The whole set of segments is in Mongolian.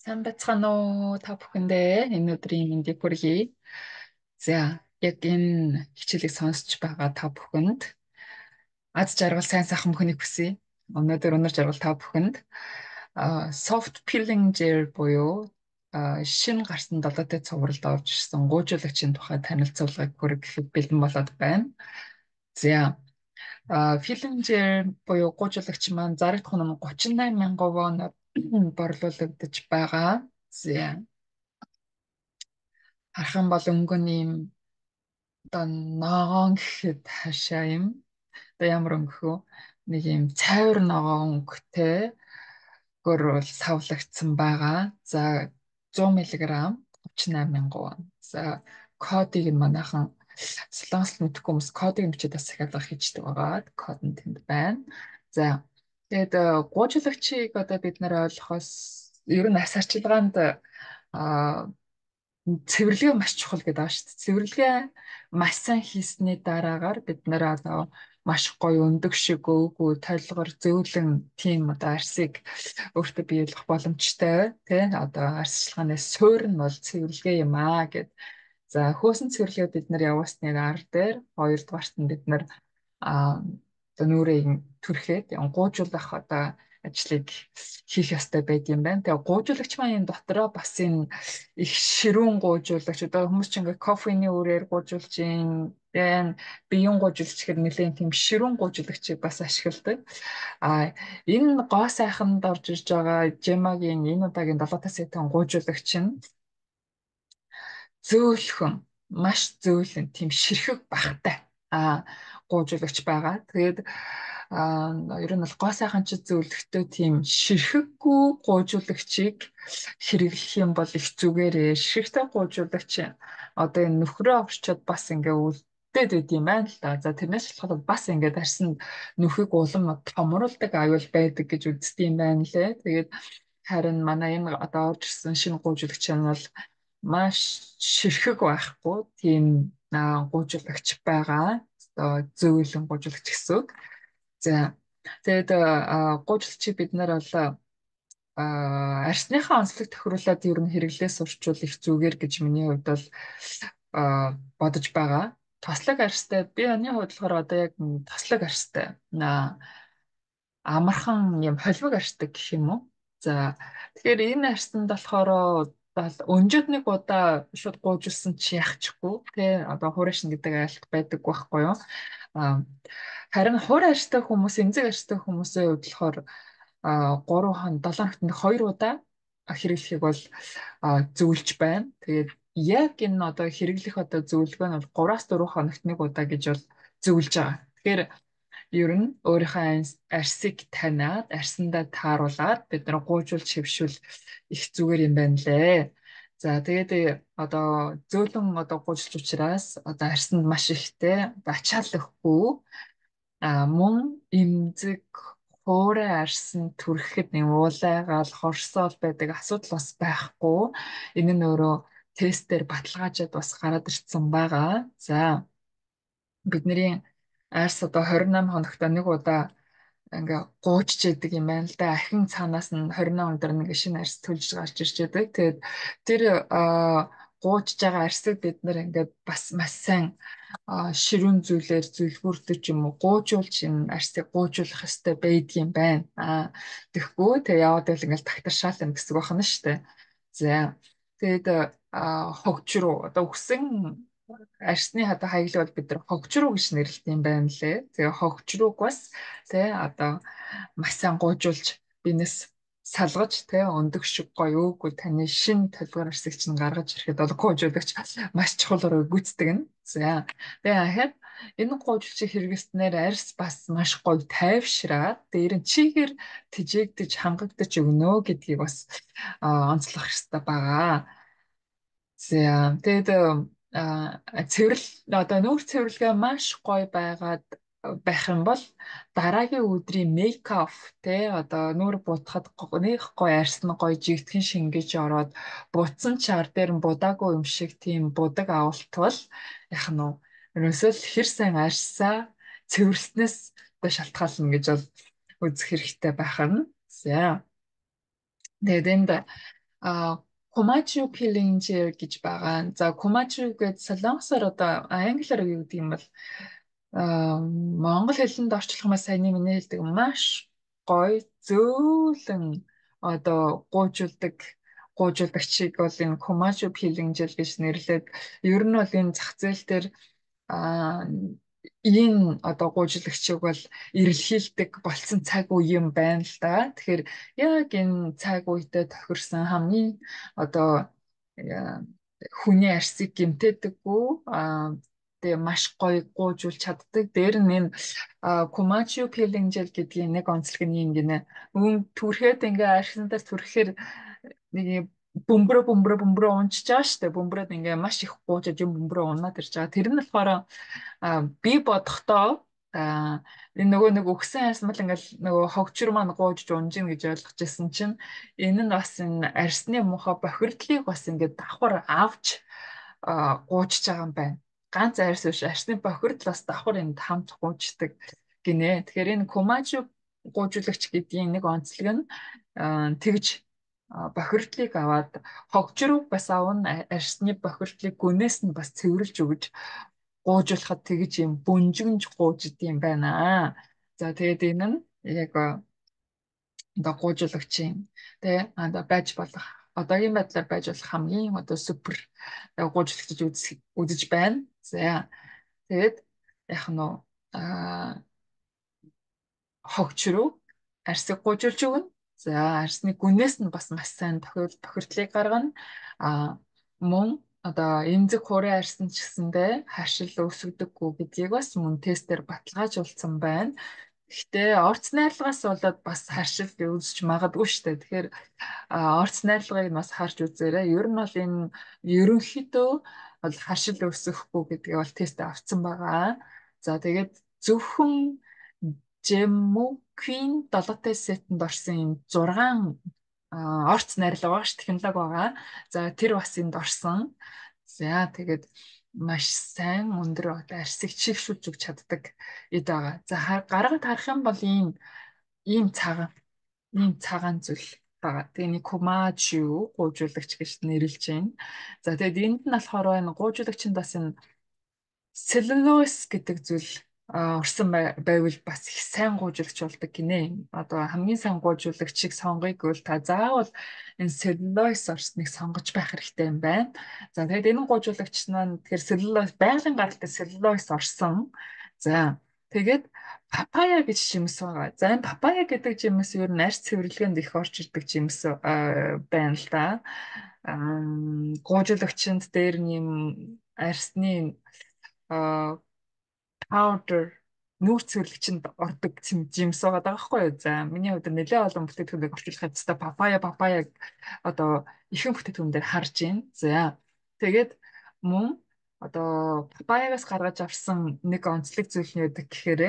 Сайн байцгаана уу та бүхэндээ энэ өдрийн мэндийг хүргэе. За, яг энэ хичээлийг сонсч байгаа та бүхэнд аз жаргал сайн сайхан бүхнийг хүсье. Өнөр жаргал та бүхэнд soft peeling gel буюу шинэ гарсан долоотой цувралд орж ирсэн гуйжуулагчийн тухай танилцуулгыг хүргэхэд бэлэн болоод байна. За, peeling gel буюу гуйжуулагч маань зарагдах нь 38,000 воноор борлуулагдаж байгаа. За, харах юм бол өнгө нь ийм одоо ногоон гэхэд хашаа юм. Одоо ямар өнгө хөө нэг ийм цайвар ногоон өнгөтэй гөр савлагдсан байгаа. За 100 мг 38,000 вон. За кодыг нь манайхан солонгост мэдхгүй хүмүүс кодыг нь бичээд бас захиалга хийждэг байгаа. Код нь тэнд байна. За тэгээд гуйжуулагчийг одоо бид нэр ойлгохоос ер нь ас арчилгаанд цэвэрлэгээ маш чухал гэдэг байгаа шүү дээ. Цэвэрлэгээ маш сайн хийсний дараагаар бид нэр одоо маш гоё өндөг шиг өвгөө толгор зөөлөн тийм одоо арсыг өөртөө биелэх боломжтой тий одоо арсчилгааны суурь нь бол цэвэрлэгээ юм аа гэд. За хөөсөн цэвэрлэгээ бид нар явуулсны ар дээр хоёрдугаарт нь бид нар одоо нүрийг түрхээд гуйжуулах одоо ажлыг хийх ёстой байд юм байна. Тэгээ гуйжуулагч маань энэ дотроо бас энэ их ширүүн гуйжуулагч одоо хүмүүс ч ингээ кофений үрээр гуйжуулж энэ биеийн гуйжуулагч гэхэр нэлээд тийм ширүүн гуйжуулагчийг бас ашигладаг. Энэ гоо сайханд орж ирж байгаа Жемагийн энэ удаагийн 7 сэтэн гуйжуулагч нь зөөлхөн маш зөөлөн тийм ширхэг багтай гуйжуулагч байгаа. Тэгээд ер нь бол гоо сайхан ч зөөлөхтэй тийм ширхэггүй гуйжуулагчийг хэрэглэх юм бол их зүгээрээ. Ширхэгтэй гуйжуулагч одоо энэ нөхрөө орчод бас ингээ үлдээд байд юм байна л да. За тэрнээс шалтгаалаад бас ингээд арьсан нүхийг улам томруулдаг аюул байдаг гэж үздэг юм байна лээ. Тэгээд харин манай энэ одоо орж ирсэн шинэ гуйжуулагч нь бол маш ширхэг байхгүй тийм гуйжуулагч байгаа. Одоо зөөлөн гуйжуулагч гэсэн үг. За тэгээд гуйжуулагчийг бид нар бол арсныхаа онцлог тохируулаад ер нь хэрэглээс урчвал их зүгээр гэж миний хувьд бол бодож байгаа. Тослог арьстай би оны хувьд болохоор одоо яг тослог арьстай амархан юм холимог арьстай гэх юм уу. За тэгэхээр энэ арьсанд болохоор өнжөөд нэг удаа шууд гуйжулсан чи яхчихгүй тий одоо хуурайшин гэдэг айлт байдаг байхгүй юу. Харин хуур арьстай хүмүүс эмзэг арьстай хүмүүсийн хувьд болохоор 3 хон 7 хоногт 2 удаа хэрэглэхийг бол зөвлөж байна. Тэгээд яг энэ одоо хэрэглэх одоо зөвлөгөө нь бол 3-аас 4 хоногт 1 удаа гэж бол зөвлөж байгаа. Тэгэхээр ер нь өөрийнхөө арсыг таниад арсандаа тааруулаад бид нар гуйжуулж хэвшүүл их зүгээр юм байна лээ. За тэгээд одоо зөөлөн одоо гуйжуулж учраас одоо арсанд маш ихтэй ачааллахгүй мөн эмзэг хуурай арсан түрхэхэд нэг уулайгаал хорсоол байдаг асуудал бас байхгүй. Энэ нь өөрөө тестээр баталгаажаад бас гараад ирсэн байгаа. За бидний арс одоо 28 хоногт нэг удаа ингээ гуйчж яадаг юм байна л да. Ахин цаанаас нь 28 өндөр нэг шинэ арс төлж гарч ирж яадаг. Тэгээд тэр гуйчж байгаа арсыг бид нэр ингээ бас маш сайн ширүүн зүйлээр зөвлгүүртэй ч юм уу гуйжуулж энэ арсыг гуйжуулах ёстой байдаг юм байна. Тэгэхгүй тэгээ яваад байл ингээл тагтаршаал юм гэсэн үг байна шүү дээ. За тэгээд хогжруу одоо үхсэн арсны одоо хаяглал бол бид нар хогжруу гэж нэрлэдэг юм байна лээ. Тэгээ хогжрууг бас тий одоо маш сайн гуйжуулж бинес салгаж тий өндөг шиг гоё өөгүй таны шин толгойн арсыг чинь гаргаж ирэхэд бол гуйжуулагч маш чухал руу гүйцэтгэг нь. За тэгээ ахад энэ гуйжуулчийг хэрэглэснээр арс бас маш гоё тайвшраад дээр нь чигээр тэжээгдэж хангагдаж өгнө гэдгийг бас онцлох хэрэгтэй байгаа. За тэгээд цэвэрлэл одоо нүүр цэвэрлэгээ маш гоё байгаад байх юм бол дараагийн өдрийн мейкап те одоо нүүр буутахад нэг гоё арьсна гоё жигтгэн шингэж ороод буцсан чар дээр нь будаагүй юм шиг тийм будаг авалтвал яах нь вэ? Ерөөсөө л хэр сайн арьсаа цэвэрлснээс шалтгаална гэж бол үзэх хэрэгтэй байх нь. За тэгээд энд Комачу пилинжер гэж байгаа. За комачу гэж солонгосоор одоо англиар юу гэдэг юм бол монгол хэлэнд орчлох маш сайн миний хэлдэг маш гоё зөөлөн одоо гуйжуулдагчийг бол энэ комачу пилинжер гэж нэрлээд ер нь бол энэ зах зээл дээр а энэ одоо гуйжуулагчийг бол эрэлхийлдэг болсон цаг үе юм байна л да. Тэгэхээр яг энэ цаг үедээ тохирсон хамгийн одоо э, хүний арсыг гэмтээдэггүй тэгээ маш гоё гуйжуулж чаддаг. Дээр нь энэ Комачу Пеленжел гэдгийн нэг онцлог нь юм гинэ. Түрхэд ингээ архин дээр түрхэхээр нэг бөмбөрөө унчиж байгаа штэ. Бөмбөрөд ингээ маш их гуйжаж юм бөмбөрөө унаад ирж байгаа. Тэр нь болохоор би бодохдоо энэ нөгөө нэг өгсөн хайсмал ингээл нөгөө хогчроо маань гуйж унжин гэж ойлгож байсан чинь энэ нь бас энэ арсны муухай бохирдлыг бас ингээд давхар авч гуйжж байгаа юм байна. Ганц арс биш арсны бохирдол бас давхар энд хамт гуйждаг гинэ. Тэгэхээр энэ комажу гуйжуулагч гэдгийн нэг онцлог нь тэгж бохирдлыг аваад хогжрог бас авна арсны бохирдлыг гүнээс нь бас цэвэрлж өгж гуйжуулахад тэгж юм бөнжгөнж гууж идэм байна. За тэгээд энэ нь яг одоо гуйжуулагчийн тий одоо байж болох одоогийн байдлаар байж болох хамгийн одоо супер гуйжуулагч үзэж байна. За тэгээд яг нь хогчроо арсыг гуйжуулж өгнө. За арсны гүнээс нь бас маш сайн тохирдлыг гаргана. Мөн одоо эмзэг хуурай арсан ч гэсэндээ хашил өсгдөггүй гэдгийг бас мөн тестээр баталгаажуулсан байна. Гэхдээ орц найрлагаас болоод бас харшил үүсч магадгүй шүү дээ. Тэгэхээр орц найрлагыг бас харж үзээрэй. Ер нь бол энэ ерөнхийдөө бол харшил өсөхгүй гэдгийг бол тест авцсан байгаа. За тэгээд зөвхөн Жемуквин 7-т сетэнд орсон энэ 6 орц найрлага байгаа ш технологи байгаа. За тэр бас энд орсон. За тэгээд маш сайн өндөр арсыг чигшүүлж өгч чаддаг эд байгаа. За гаргаад харах юм бол ийм цагаан зүйл байгаа. Тэгээ нэг комачу гуйжуулагч гэж нэрлэж байна. За тэгээд энд нь болохоор энэ гуйжуулагчинд бас энэ целлулоз гэдэг зүйл орсон байвал бас их сайн гуйжуулагч болдог гинэ. Одоо хамгийн сайн гуйжуулагчийг сонгоё гэвэл та заавал энэ целлулоз орсныг сонгож байх хэрэгтэй юм байна. За тэгээд энэ гуйжуулагч маань тэгэхээр целлулоз байгалийн гаралтай целлулоз орсон. За тэгээд папая гэж жимс байгаа. За энэ папая гэдэг жимс ер нь арьс цэвэрлэгэнд их орж ирдэг жимс байна л да. Гуйжуулагчинд дээр нэм арьсны powder нүүрс цэвэрлэгчэнд ордог жимс байгаа байхгүй юу. За миний хувьд нэлээд олон бүтээгдэхүүнийг орчуулах хэвчээ папая одоо ихэнх бүтээгдэхүүн дээр харж байна. За тэгээд мөн одоо папаягаас гаргаж авсан нэг онцлог зүйл нь байдаг гэхээр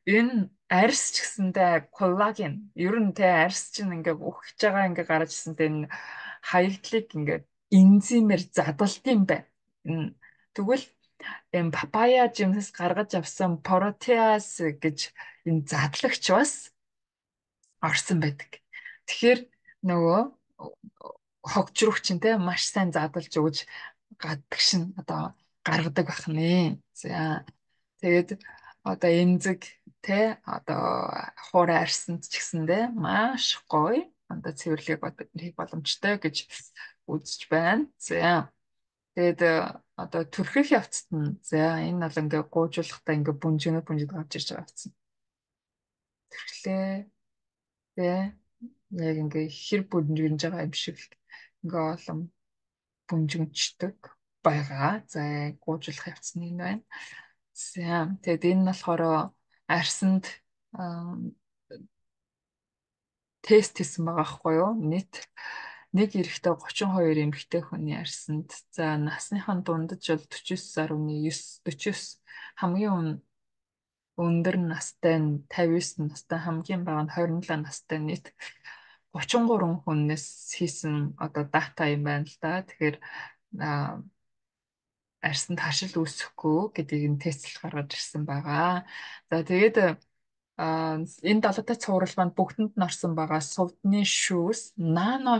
энэ арьс ч гэсэндээ коллаген ер нь тэ арьс чинь ингээ үхэж байгаа ингээ гарч ирсэнтэй энэ хаягдлыг ингээ энзимээр задалт юм байна. Тэгвэл энэ папая жимсээс гаргаж авсан протеаз гэж энэ задлагч бас орсон байдаг. Тэгэхээр нөгөө хогжрогч нь те маш сайн задлж өгж гадагш нь одоо гаргадаг байх нэ. За тэгээд одоо эмзэг те одоо хуурай арсанд ч гэсэндээ маш гоё одоо цэвэрлэгийг хийх боломжтой гэж үзэж байна. За тэгээд одоо төрхөх явцад нь за энэ бол ингээ гуйжуулахдаа ингээ бүнжэд гарч ирж байгаа гэсэн. Тэрхлээ тэгээ яг ингээ хэр бүнжгэнж байгаа юм шиг ингээ олон бүнжгэнчдэг байгаа. За гуйжуулах явц нь энэ байна. За тэгээд энэ нь болохоор арсанд тест хийсэн байгаа байхгүй юу? Нийт нэг эрэхтэй 32 эмэгтэй хүний арсанд за насныхан дундаж бол 49.9 49 хамгийн өндөр настай нь 59 настай хамгийн бага нь 27 настай нийт 33 хүнээс хийсэн одоо дата юм байна л да. Тэгэхээр арсанд хашил үүсэхгүй гэдгийг нь тестэл гаргаж ирсэн байгаа. За тэгээд Энэ далайтай цуврал маань бүгдэнд нь орсон байгаа сувдны шүүс, нано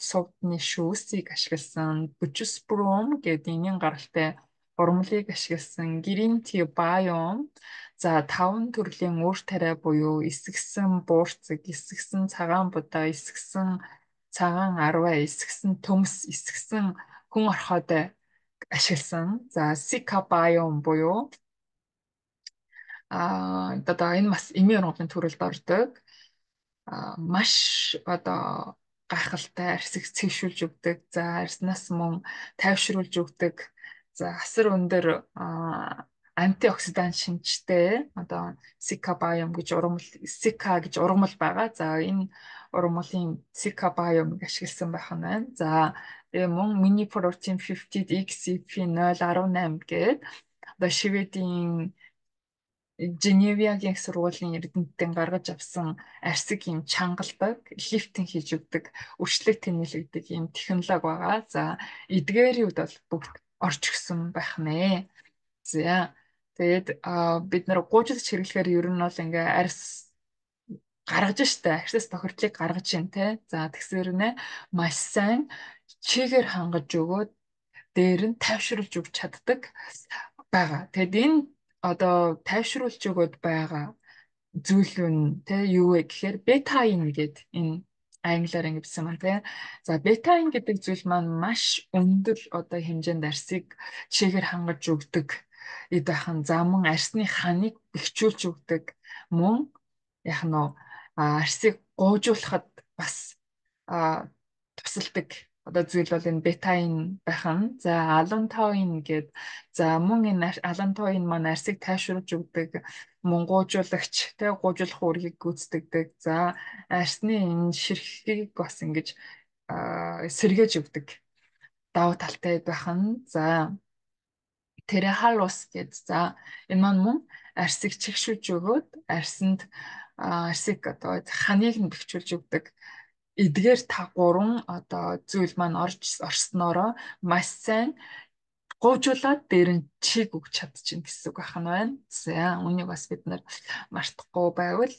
сувдны шүүсийг ашигласан, Butysprom гэдэг энгийн гаралтай урмлыг ашигласан, Green Tea Biome, за 5 төрлийн үр тариа буюу эсгсэн буурцэг, эсгсэн цагаан будаа, эсгсэн цагаан арваа, эсгсэн төмс, эсгсэн хүн орхиод ашигласан. За Sika Biome буюу одоо энэ бас эмийн ургамлын төрөлд ордог. Маш одоо гайхалтай арьсыг цэвшүүлж өгдөг. За арьснаас мөн тайвшруулж өгдөг. За асар өндөр антиоксидант шинжтэй одоо Sika Biome гэж ургамал Sika гэж ургамал байгаа. За энэ ургамлын Sika Biome-ыг ашигласан байх нь байна. За тэгээ мөн Mini Protein 50 XCP018 гэдэг одоо Шведийн Женевиагийн сургуулийн эрдэмтдийн гаргаж авсан арьсыг юм чангалдаг, лифтинг хийж өгдөг, үрчлэг тэнэлэгдэг юм технологи байгаа. За эдгээрүүд бол бүгд орж өгсөн байх нэ. За тэгээд бид нар гуйжлж хэрэглэхээр ер нь бол ингээ арьс гаргаж штэ, арьсаас тохирдлыг гаргаж юм те. За тэгсээр нэ маш сайн чигээр хангаж өгөөд дээр нь тайвшруулж өгч чаддаг байгаа. Тэгэд энэ одоо тайвшруулж өгöd байгаа зүйл нь те юу вэ гэхээр бетаин гэдэг энэ англиар ингэсэн маань те. За бетаин гэдэг зүйл маань маш өндөр одоо хэмжээнд арьсыг чигээр хангаж өгдөг. Эд бахан замун арьсны ханыг бэхжүүлж өгдөг. Мөн яг нь арьсыг гоожуулахад бас тусалдаг одоо зүйл бол энэ бетаин байх нь. За алантоин гээд за мөн энэ алантоин маань арьсыг тайвшруулж өгдөг, мөн гуужуулагч тэ гуужуулах үүргийг гүйцэтгэдэг. За арьсны энэ ширхгийг бас ингэж сэргээж өгдөг давуу талтай байх нь. За Терехалус гээд за энэ маань мөн арьсыг чигшүүлж өгөөд арьсанд арьсыг одоо ханыг нь бэхжүүлж өгдөг. Эдгээр та гурван одоо зүйл маань орсноороо маш сайн гуйжуулаад дээр нь чиг өгч чадчихна гэсэн үг байна. За үнийг бас бид нар мартахгүй байвал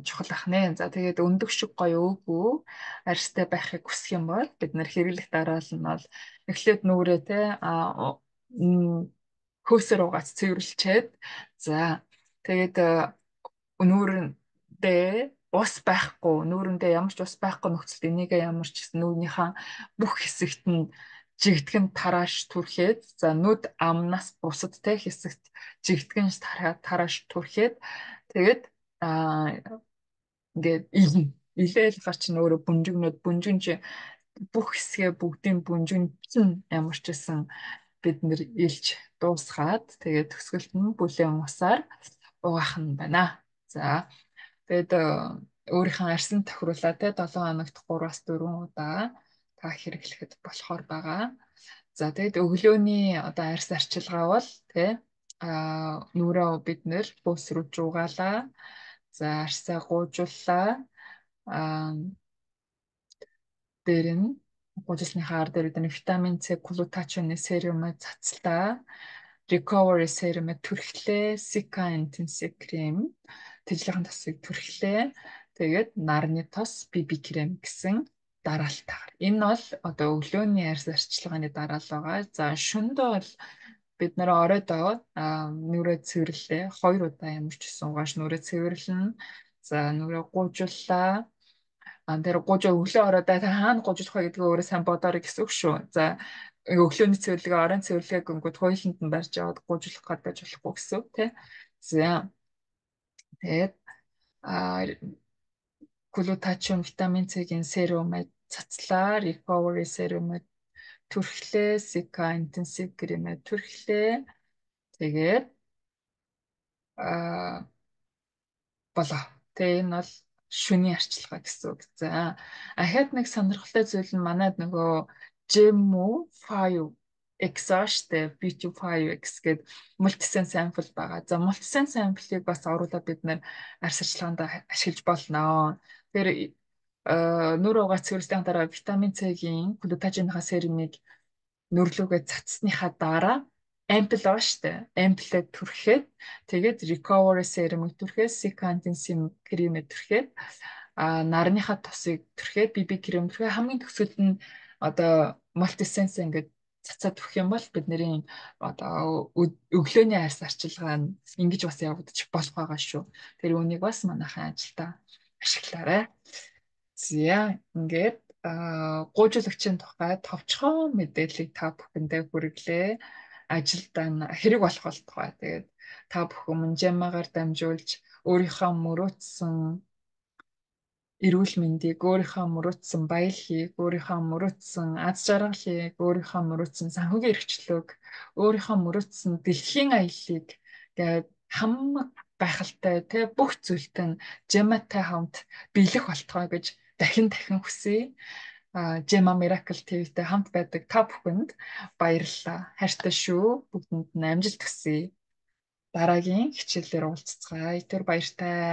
чухал ах нэ. За тэгээд өндөг шиг гоё өвгөө арьстай байхыг хүсэх юм бол бид нар хэрэглэх дараал нь бол эхлээд нүрээ те хөөсөр угаац цэвэрлчээд за тэгээд нүүрэндээ ус байхгүй, нүүрэндээ ямар ч ус байхгүй нөхцөлд энийг ямар ч нүүрнийхээ бүх хэсэгт нь жигтгэн тарааш түрхээд за нүд амнаас бусад те хэсэгт жигтгэн тарааш түрхээд тэгээд ингээд илээл гарч нөөрэ бүнжигнүүд бүх хэсгээ бүгдийн бүнжин ямар ч гэсэн бид нэр илж дуусгаад тэгээд төсгөлт нь бүлээн усаар угаах нь байна. За тэгээд өөрийнхөө арьсан тохируулаад те 7 хоногт 3-аас 4 удаа та хэрэглэхэд болохоор байгаа. За тэгээд өглөөний одоо арьс арчилгаа бол те нүрээ бид нэр бөөсрүүж угаалаа. За арьсаа гуйжууллаа. Дээр нь гуйжуулсныхаа ар дээр бид витамин С глутатионы серумыг цацлаа. Recovery serum-ыг түрхлээ. Sika Intensive Cream тэжлэхэн тосыг түрхлээ. Тэгээд нарны тос BB крем гэсэн дараалтаар. Энэ бол одоо өглөөний арьс арчилгааны дараал байгаа. За шөнөдөө бол бид нэр оройдоо нүрээ цэвэрлээ. 2 удаа ямар ч гэсэн угааш нүрээ цэвэрлэнэ. За нүрээ гуйжууллаа. Тэр өглөө оройдоо хаана гуйжуулах вэ гэдгээ өөрөө сайн бодоорой гэсэн үг шүү. За өглөөний цэвэрлэгээ оройн цэвэрлэгээ гингүүд хоёуланд нь барьж аваад гуйжуулах гадаж болохгүй гэсэн үг тий. За тэгээд глутатион витамин С-ийн серумыг цацлаа, recovery серумыг түрхлээ, Sika Intensive Cream-ийг түрхлээ. Тэгээд болоо. Тэгээ энэ бол шөнийн арчилгаа гэсэн үг. За ахаад нэг сонирхолтой зүйл нь манайд нөгөө Gemu 5X штэ B2-5X гэдэг мультисэн сампл байгаа. За мультисэн самплыг бас оруулаад бид нэр арьс арчилгаанд ашиглаж болно. Тэр нүрээ угаа цэвэрлэлийн дараа витамин С-ийн глутатионхаа серумыг нүрлүүгээ цацсныхаа дараа ампл байгаа штэ. Амплээ түрхэхэд тэгээд recovery serum түрхээд secantinin крем түрхээд нарныхаа тосыг түрхээд BB крем түрхээ хамгийн төгсгөл нь одоо multisense ингээд цацаад өгөх юм бол бидний одоо өглөөний арьс арчилгаа нь ингэж бас явагдчих болох байгаа шүү. Тэр үнийг бас манайхан ажилдаа ашиглаарай. За ингээд гуйжуулагчийн тухай товчхон мэдээллийг та бүхэндээ хүргэлээ. Ажилдаа хэрэг болох тухай. Тэгээд та бүхэн Манжамагаар дамжуулж өөрийнхөө мөрөөдсөн эрүүл мэндийг, өөрийнхөө мөрөөдсөн баялагийг, өөрийнхөө мөрөөдсөн аз жаргалыг, өөрийнхөө мөрөөдсөн санхүүгийн эрхчлөлөг, өөрийнхөө мөрөөдсөн дэлхийн аяллыг гээд хамаг гайхалтай те бүх зүйлтэй нь Gemma-тай хамт биелэх болтгоо гэж дахин хүсье. Gemma Miracle TV-тэй хамт байдаг та бүхэнд баярлалаа. Хайртай шүү. Бүгдэнд нь амжилт хүсье. Дараагийн хичээлээр уулзцгаая. Тэр баяртай.